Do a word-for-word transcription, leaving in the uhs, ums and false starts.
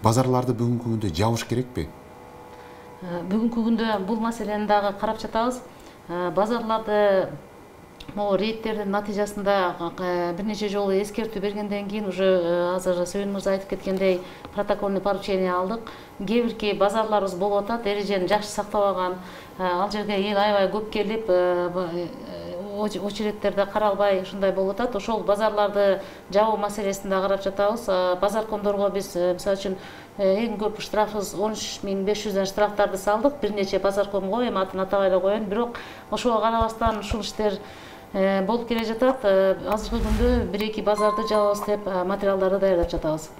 Базарларды бүгүнкү күндө жабыш керекпи? Бүгүнкү күндө бул маселени дагы карап жатабыз. Базарларды могу рейдтердин натыйжасында бир нече жолу эскертүү бергенден кийин уже азыр Сөйүн мырза айтып кеткендей протокольный поручение алдык. Кээ бирки базарларыбыз болуп атат, эрежени жакшы сактабаган, ал жерге эл аябай көп келип, очередтерде каралбай ушундай болуп атат. Ошол базарларды жабуу маселесин да карап жатабыз. Базаркомдорго биз мисалы үчүн эң көп штрафыбыз он үч миң беш жүздөн штрафтарды салдык. Бир нече базаркомго, эми атын атабай эле коеюн. Бирок ошого карабастан ушул иштер болуп келе жатат. Азыркы күндө бир эки базарды жабабыз деп материалдарды даярдап жатабыз.